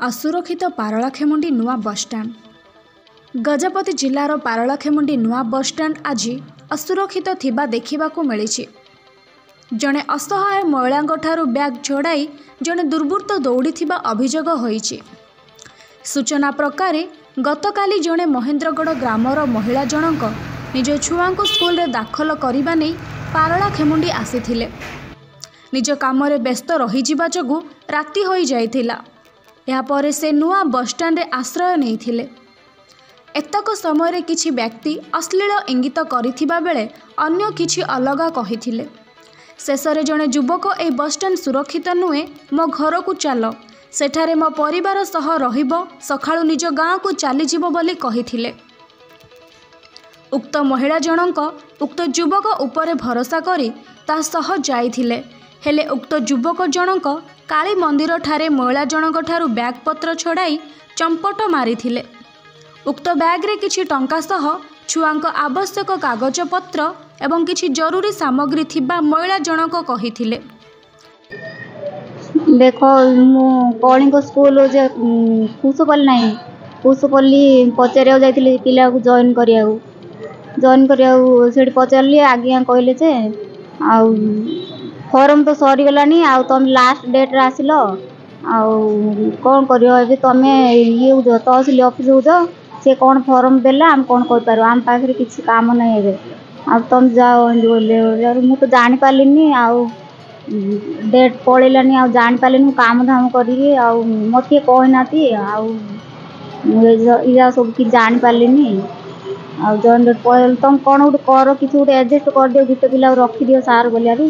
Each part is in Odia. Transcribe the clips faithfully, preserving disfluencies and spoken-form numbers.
ଅସୁରକ୍ଷିତ ପାରଳାଖେମୁଣ୍ଡି ନୂଆ ବସ୍ଷ୍ଟାଣ୍ଡ। ଗଜପତି ଜିଲ୍ଲାର ପାରଳାଖେମୁଣ୍ଡି ନୂଆ ବସ୍ଷ୍ଟାଣ୍ଡ ଆଜି ଅସୁରକ୍ଷିତ ଥିବା ଦେଖିବାକୁ ମିଳିଛି। ଜଣେ ଅସହାୟ ମହିଳାଙ୍କଠାରୁ ବ୍ୟାଗ୍ ଛଡ଼ାଇ ଜଣେ ଦୁର୍ବୃତ୍ତ ଦୌଡ଼ିଥିବା ଅଭିଯୋଗ ହୋଇଛି। ସୂଚନା ପ୍ରକାରେ, ଗତକାଲି ଜଣେ ମହେନ୍ଦ୍ରଗଡ଼ ଗ୍ରାମର ମହିଳା ଜଣଙ୍କ ନିଜ ଛୁଆଙ୍କୁ ସ୍କୁଲରେ ଦାଖଲ କରିବା ନେଇ ପାରଳାଖେମୁଣ୍ଡି ଆସିଥିଲେ। ନିଜ କାମରେ ବ୍ୟସ୍ତ ରହିଯିବା ଯୋଗୁଁ ରାତି ହୋଇଯାଇଥିଲା। ଏହାପରେ ସେ ନୂଆ ବସ୍ଷ୍ଟାଣ୍ଡରେ ଆଶ୍ରୟ ନେଇଥିଲେ। ଏତକ ସମୟରେ କିଛି ବ୍ୟକ୍ତି ଅଶ୍ଳୀଳ ଇଙ୍ଗିତ କରିଥିବା ବେଳେ ଅନ୍ୟ କିଛି ଅଲଗା କହିଥିଲେ। ଶେଷରେ ଜଣେ ଯୁବକ ଏହି ବସ୍ଷ୍ଟାଣ୍ଡ ସୁରକ୍ଷିତ ନୁହେଁ, ମୋ ଘରକୁ ଚାଲ, ସେଠାରେ ମୋ ପରିବାର ସହ ରହିବ, ସକାଳୁ ନିଜ ଗାଁକୁ ଚାଲିଯିବ ବୋଲି କହିଥିଲେ। ଉକ୍ତ ମହିଳା ଜଣଙ୍କ ଉକ୍ତ ଯୁବକ ଉପରେ ଭରସା କରି ତା ସହ ଯାଇଥିଲେ। ହେଲେ ଉକ୍ତ ଯୁବକ ଜଣଙ୍କ କାଳୀ ମନ୍ଦିରଠାରେ ମହିଳା ଜଣଙ୍କଠାରୁ ବ୍ୟାଗ୍ ପତ୍ର ଛଡ଼ାଇ ଚମ୍ପଟ ମାରିଥିଲେ। ଉକ୍ତ ବ୍ୟାଗ୍ରେ କିଛି ଟଙ୍କା ସହ ଛୁଆଙ୍କ ଆବଶ୍ୟକ କାଗଜପତ୍ର ଏବଂ କିଛି ଜରୁରୀ ସାମଗ୍ରୀ ଥିବା ମହିଳା ଜଣକ କହିଥିଲେ। ଦେଖ, ମୁଁ କଳିଙ୍ଗ ସ୍କୁଲ ଯେ କୁଶପଲ୍ଲୀ ନାହିଁ, କୁଶପଲ୍ଲୀ ପଚାରିବାକୁ ଯାଇଥିଲି ପିଲାକୁ ଜଏନ୍ କରିବାକୁ। ଜଏନ୍ କରିବାକୁ ସେଠି ପଚାରିଲି, ଆଜ୍ଞା କହିଲେ ଯେ ଆଉ ଫର୍ମ ତ ସରିଗଲାଣି, ଆଉ ତମେ ଲାଷ୍ଟ ଡେଟ୍ରେ ଆସିଲ, ଆଉ କ'ଣ କରିବ ଏବେ? ତମେ ଇଏ ଯାଅ, ତହସିଲ ଅଫିସକୁ ଯାଅ, ସେ କ'ଣ ଫର୍ମ ଦେଲେ ଆମେ କ'ଣ କରିପାରିବୁ, ଆମ ପାଖରେ କିଛି କାମ ନାହିଁ ଏବେ, ଆଉ ତମେ ଯାଅ ଏମିତି ବୋଇଲେ। ମୁଁ ତ ଜାଣିପାରିଲିନି, ଆଉ ଡେଟ୍ ପଳେଇଲାନି, ଆଉ ଜାଣିପାରିଲିନି। ମୁଁ କାମ ଧାମ କରିକି, ଆଉ ମୋତେ କିଏ କହିନାହାନ୍ତି, ଆଉ ମୁଁ ଏଇଆ ସବୁ କିଛି ଜାଣିପାରିଲିନି। ଆଉ ଜଏନ୍ ଡେଟ୍ ପଳେଇଲେ, ତମେ କ'ଣ ଗୋଟେ କର, କିଛି ଗୋଟେ ଆଡ଼ଜଷ୍ଟ କରିଦିଅ, ଗୋଟେ ପିଲାକୁ ରଖିଦିଅ ସାର୍ ବୋଲିଆରୁ,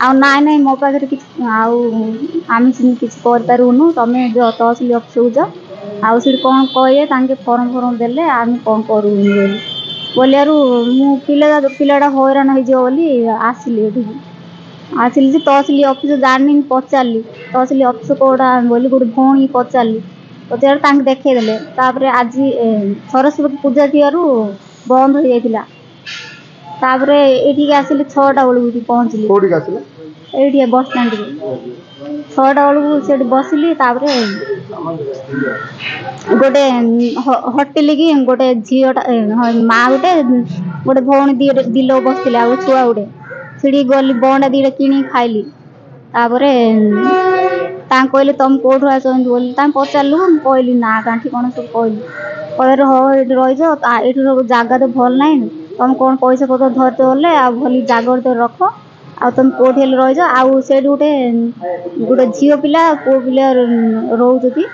ଆଉ ନାଇଁ ନାଇଁ, ମୋ ପାଖରେ କିଛି ଆଉ ଆମେ ସେମିତି କିଛି କରିପାରିବୁନୁ, ତମେ ଯାଅ ତହସିଲ ଅଫିସକୁ ଯାଅ, ଆଉ ସେଠି କ'ଣ କହିବେ ତାଙ୍କେ, ଫର୍ମ ଫର୍ମ ଦେଲେ ଆମେ କ'ଣ କରିବୁନି ବୋଲି ବୋଲିଆରୁ, ମୁଁ ପିଲା ପିଲାଟା ହଇରାଣ ହେଇଯିବ ବୋଲି ଆସିଲି ଏଠିକି। ଆସିଲି ଯେ ତହସିଲ ଅଫିସ ଜାଣିନି, ପଚାରିଲି ତହସିଲ ଅଫିସ କେଉଁଟା ବୋଲି ଗୋଟେ ଭଉଣୀ ପଚାରିଲି। ପଚାରିଲି, ତାଙ୍କେ ଦେଖେଇଦେଲେ। ତାପରେ ଆଜି ସରସ୍ୱତୀ ପୂଜା ଥିବାରୁ ବନ୍ଦ ହେଇଯାଇଥିଲା। ତାପରେ ଏଇଠିକି ଆସିଲି ଛଅଟା ବେଳକୁ, ଏଠି ପହଞ୍ଚିଲି। କୋଉଠିକି ଆସିଲେ? ଏଇଠି ବସଷ୍ଟାଣ୍ଡକୁ ଛଅଟା ବେଳକୁ। ସେଠି ବସିଲି। ତାପରେ ଗୋଟେ ହଟିଲି କି ଗୋଟେ ଝିଅଟା, ମା ଗୋଟେ, ଗୋଟେ ଭଉଣୀ ଦିଲ ବସିଥିଲେ, ଆଉ ଛୁଆ ଗୋଟେ। ସେଠିକି ଗଲି, ବଣ୍ଡା ଦୁଇଟା କିଣିକି ଖାଇଲି। ତାପରେ ତାଙ୍କୁ କହିଲେ, ତମେ କେଉଁଠୁ ଆସିଛନ୍ତି ବୋଲି ତାଙ୍କୁ ପଚାରିଲୁ। ମୁଁ କହିଲି ନା କାଠି କ'ଣ ସବୁ କହିଲି। କହିଲେ, ହଉ ଏଇଠି ରହିଛ, ଏଇଠି ସବୁ ଜାଗା ତ ଭଲ ନାହିଁ, ତମେ କ'ଣ ପଇସା ପତ୍ର ଧରିତ ଗଲେ ଆଉ ଭଲ ଜାଗାରେ ତ ରଖ, ଆଉ ତମେ କେଉଁଠି ହେଲେ ରହିଛ, ଆଉ ସେଇଠି ଗୋଟେ ଗୋଟେ ଝିଅ ପିଲା ପୁଅ ପିଲା ରହୁଛନ୍ତି,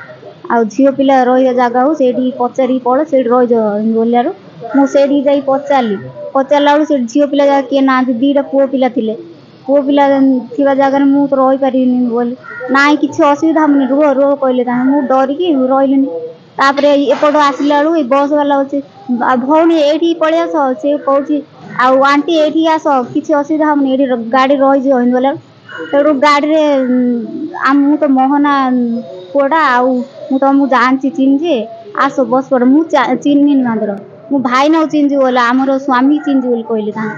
ଆଉ ଝିଅ ପିଲା ରହିବା ଜାଗା ହଉ, ସେଇଠିକି ପଚାରିକି ପଳ, ସେଇଠି ରହିଯାଅ ବୋଲିଆରୁ, ମୁଁ ସେଇଠିକି ଯାଇ ପଚାରିଲି। ପଚାରିଲା ବେଳକୁ ସେଇଠି ଝିଅ ପିଲା ଯାକ କିଏ ନାହାନ୍ତି, ଦୁଇଟା ପୁଅ ପିଲା ଥିଲେ। ପୁଅ ପିଲା ଥିବା ଜାଗାରେ ମୁଁ ତ ରହିପାରିବିନି ବୋଲି, ନାଇଁ କିଛି ଅସୁବିଧା ହେବନି, ରୁହ ରୁହ କହିଲେ ତାଙ୍କେ। ମୁଁ ଡରିକି ରହିଲିନି। ତାପରେ ଏପଟୁ ଆସିଲା ବେଳକୁ ଏଇ ବସ୍ ବାଲା ଅଛି, ଆଉ ଭଉଣୀ ଏଇଠିକି ପଳେଇ ଆସ। ସେ କହୁଛି, ଆଉ ଆଣ୍ଟି ଏଇଠିକି ଆସ, କିଛି ଅସୁବିଧା ହେବନି, ଏଇଠି ଗାଡ଼ି ରହିଯିବ ଏମିତି ବୋଇଲା। ତେଣୁ ଗାଡ଼ିରେ ମୁଁ ତ ମୋହନା ପୁଅଟା, ଆଉ ମୁଁ ତମକୁ ଜାଣିଛି, ଚିହ୍ନିଛି, ଆସ ବସ୍ ପଡ଼। ମୁଁ ଚିହ୍ନିନି ମାତ୍ର, ମୁଁ ଭାଇନାକୁ ଚିହ୍ନିଛି ବୋଲେ, ଆମର ସ୍ୱାମୀ ଚିହ୍ନିଛି ବୋଲି କହିଲେ ତାଙ୍କେ।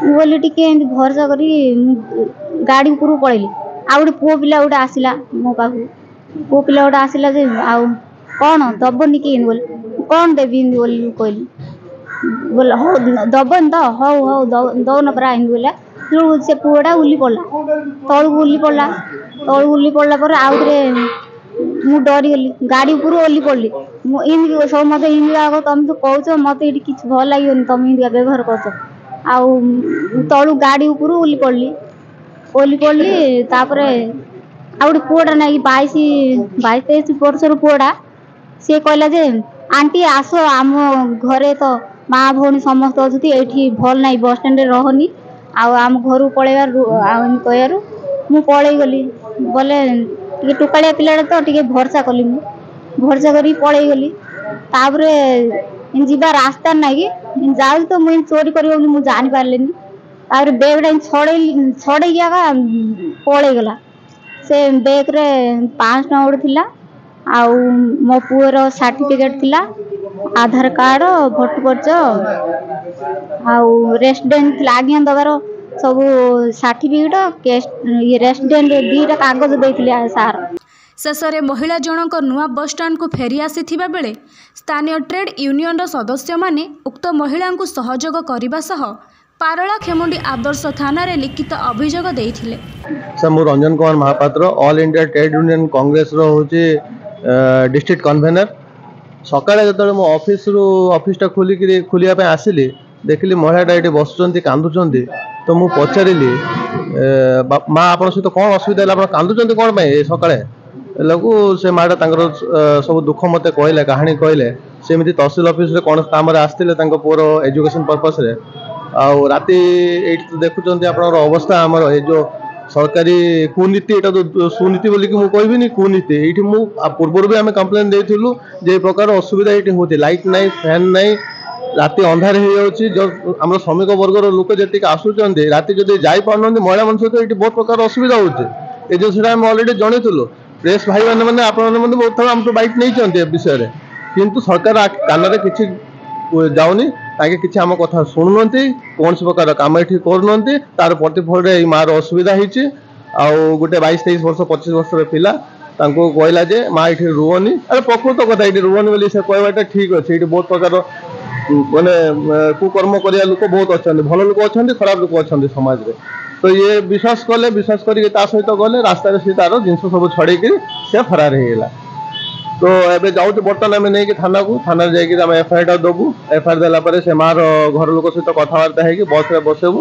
ମୁଁ କହିଲି ଟିକେ ଏମିତି ଭରସା କରି ମୁଁ ଗାଡ଼ି ଉପରକୁ ପଳେଇଲି। ଆଉ ଗୋଟେ ପୁଅ ପିଲା ଗୋଟେ ଆସିଲା ମୋ ପାଖକୁ। ପୁଅ ପିଲା ଗୋଟେ ଆସିଲା ଯେ, ଆଉ କ'ଣ ଦବନି କି ଏମିତି ବୋଲି। କ'ଣ ଦେବି ଏମିତି ବୋଲି କହିଲି। ବୋଲେ, ହଉ ଦବନି ତ, ହଉ ହଉ ଦଉନ ପରା ଏମିତି ବୋଇଲା। ତେଣୁ ସେ ପୁଅଟା ଓହ୍ଲି ପଡ଼ିଲା ତଳକୁ। ଓହ୍ଲି ପଡ଼ିଲା ତଳକୁ। ଓହ୍ଲି ପଡ଼ିଲା ପରେ ଆଉଥରେ ମୁଁ ଡରିଗଲି, ଗାଡ଼ି ଉପରୁ ଓହ୍ଲି ପଡ଼ିଲି ମୁଁ। ଏମିତି ସବୁ ମୋତେ ଏମିତି ଆଗ ତମେ ତ କହୁଛ, ମୋତେ ଏଇଠି କିଛି ଭଲ ଲାଗିବନି, ତମେ ଏମିତିକା ବ୍ୟବହାର କରୁଛ। ଆଉ ତଳୁ ଗାଡ଼ି ଉପରୁ ଓହ୍ଲି ପଡ଼ିଲି। ଓହ୍ଲି ପଡ଼ିଲି। ତାପରେ ଆଉ ଗୋଟେ ପୁଅଟା ନାଇକି ବାଇଶ ବାଇଶ ତେଇଶ ବର୍ଷର ପୁଅଟା, ସିଏ କହିଲା ଯେ ଆଣ୍ଟି ଆସ, ଆମ ଘରେ ତ ମା ଭଉଣୀ ସମସ୍ତେ ଅଛନ୍ତି, ଏଇଠି ଭଲ ନାହିଁ, ବସ୍ ଷ୍ଟାଣ୍ଡରେ ରହନି, ଆଉ ଆମ ଘରକୁ ପଳେଇବା। ଆଉ ଏମିତି କହିବାରୁ ମୁଁ ପଳେଇ ଗଲି। ବୋଲେ ଟିକେ ଟୋକାଳିଆ ପିଲାଟା ତ, ଟିକେ ଭରସା କଲି ମୁଁ, ଭରସା କରିକି ପଳେଇ ଗଲି। ତାପରେ ଯିବା ରାସ୍ତା ନାଇଁ କି ଯାଉଛି ତ ମୁଁ ଏମିତି ଚୋରି କରିବ ବୋଲି ମୁଁ ଜାଣିପାରିଲିନି। ତାପରେ ବ୍ୟାଗ୍ଟା ଛଡ଼େଇ ଛଡ଼େଇକି ଏକା ପଳେଇଗଲା। ସେ ବ୍ୟାଗ୍ରେ ପାଞ୍ଚଶହ ଟଙ୍କା ଗୋଟେ ଥିଲା, ଆଉ ମୋ ପୁଅର ସାର୍ଟିଫିକେଟ୍ ଥିଲା, ଆଧାର କାର୍ଡ଼, ଭୋଟ ପରିଚୟ ଆଉ ରେସିଡେଣ୍ଟ ଥିଲା। ଆଜ୍ଞା ଦେବାର ସବୁ ସାର୍ଟିଫିକେଟ୍, ଇଏ ରେସିଡେଣ୍ଟ ଦୁଇଟା କାଗଜ ଦେଇଥିଲେ ସାର୍। ଶେଷରେ ମହିଳା ଜଣଙ୍କ ନୂଆ ବସ୍ଷ୍ଟାଣ୍ଡକୁ ଫେରି ଆସିଥିବା ବେଳେ ସ୍ଥାନୀୟ ଟ୍ରେଡ୍ ୟୁନିୟନର ସଦସ୍ୟମାନେ ଉକ୍ତ ମହିଳାଙ୍କୁ ସହଯୋଗ କରିବା ସହ ପାରଳାଖେମୁଣ୍ଡି ଆଦର୍ଶ ଥାନାରେ ଲିଖିତ ଅଭିଯୋଗ ଦେଇଥିଲେ। ସାର୍, ମୁଁ Ranjan Kumar Mahapatra, all India trade union କଂଗ୍ରେସର ହେଉଛି ଡିଷ୍ଟ୍ରିକ୍ଟ କନଭେନର। ସକାଳେ ଯେତେବେଳେ ମୁଁ ଅଫିସରୁ ଅଫିସଟା ଖୋଲିକିରି ଖୋଲିବା ପାଇଁ ଆସିଲି, ଦେଖିଲି ମହିଳାଟା ଏଇଠି ବସୁଛନ୍ତି, କାନ୍ଦୁଛନ୍ତି। ତ ମୁଁ ପଚାରିଲି, ମା, ଆପଣଙ୍କ ସହିତ କ'ଣ ଅସୁବିଧା ହେଲା? ଆପଣ କାନ୍ଦୁଛନ୍ତି କ'ଣ ପାଇଁ ଏ ସକାଳେ? ହେଲାକୁ ସେ ମାଟା ତାଙ୍କର ସବୁ ଦୁଃଖ ମୋତେ କହିଲେ, କାହାଣୀ କହିଲେ। ସେମିତି ତହସିଲ ଅଫିସରେ କ'ଣ କାମରେ ଆସିଥିଲେ ତାଙ୍କ ପୁଅର ଏଜୁକେସନ୍ ପର୍ପସ୍ରେ। ଆଉ ରାତି ଏଇଠି ତ ଦେଖୁଛନ୍ତି ଆପଣଙ୍କର ଅବସ୍ଥା। ଆମର ଏ ଯେଉଁ ସରକାରୀ କୁନୀତି, ଏଇଟା ତ ସୁନୀତି ବୋଲିକି ମୁଁ କହିବିନି, କୁନୀତି। ଏଇଠି ମୁଁ ପୂର୍ବରୁ ବି ଆମେ କମ୍ପ୍ଲେନ୍ ଦେଇଥିଲୁ ଯେ ଏ ପ୍ରକାର ଅସୁବିଧା ଏଇଠି ହେଉଛି, ଲାଇଟ୍ ନାହିଁ, ଫ୍ୟାନ୍ ନାହିଁ, ରାତି ଅନ୍ଧାର ହେଇଯାଉଛି। ଆମର ଶ୍ରମିକ ବର୍ଗର ଲୋକ ଯେତିକି ଆସୁଛନ୍ତି, ରାତି ଯଦି ଯାଇପାରୁନାହାନ୍ତି, ମହିଳାମାନଙ୍କ ସହିତ ଏଇଠି ବହୁତ ପ୍ରକାର ଅସୁବିଧା ହେଉଛି। ଏ ଜିନିଷଟା ଆମେ ଅଲରେଡ଼ି ଜଣେଇଥିଲୁ। ପ୍ରେସ୍ ଭାଇମାନେ ମାନେ ଆପଣମାନେ ମଧ୍ୟ ବହୁତ ଥର ଆମଠୁ ବାଇଟ୍ ନେଇଛନ୍ତି ଏ ବିଷୟରେ, କିନ୍ତୁ ସରକାର କାନରେ କିଛି ଯାଉନି। ତାଙ୍କେ କିଛି ଆମ କଥା ଶୁଣୁନାହାନ୍ତି, କୌଣସି ପ୍ରକାର କାମ ଏଠି କରୁନାହାନ୍ତି। ତାର ପ୍ରତିଫଳରେ ଏଇ ମାଆର ଅସୁବିଧା ହେଇଛି। ଆଉ ଗୋଟେ ବାଇଶ ତେଇଶ ବର୍ଷ, ପଚିଶ ବର୍ଷର ପିଲା ତାଙ୍କୁ କହିଲା ଯେ ମା, ଏଇଠି ରୁହନି। ଆରେ, ପ୍ରକୃତ କଥା, ଏଇଠି ରୁହନି ବୋଲି ସେ କହିବାଟା ଠିକ୍ ଅଛି। ଏଇଠି ବହୁତ ପ୍ରକାର ମାନେ କୁକର୍ମ କରିବା ଲୋକ ବହୁତ ଅଛନ୍ତି। ଭଲ ଲୋକ ଅଛନ୍ତି, ଖରାପ ଲୋକ ଅଛନ୍ତି ସମାଜରେ। ତ ଇଏ ବିଶ୍ୱାସ କଲେ, ବିଶ୍ୱାସ କରିକି ତା ସହିତ ଗଲେ। ରାସ୍ତାରେ ସେ ତାର ଜିନିଷ ସବୁ ଛଡ଼େଇକିରି ସେ ଫରାର ହେଇଗଲା। ତ ଏବେ ଯାଉଛୁ ବର୍ତ୍ତମାନ ଆମେ ନେଇକି ଥାନାକୁ। ଥାନାରେ ଯାଇକି ଆମେ ଏଫଆଇଆରଟା ଦେବୁ। ଏଫଆଇଆର ଦେଲା ପରେ ସେ ମାର ଘର ଲୋକ ସହିତ କଥାବାର୍ତ୍ତା ହେଇକି ବସ୍ରେ ବସେଇବୁ।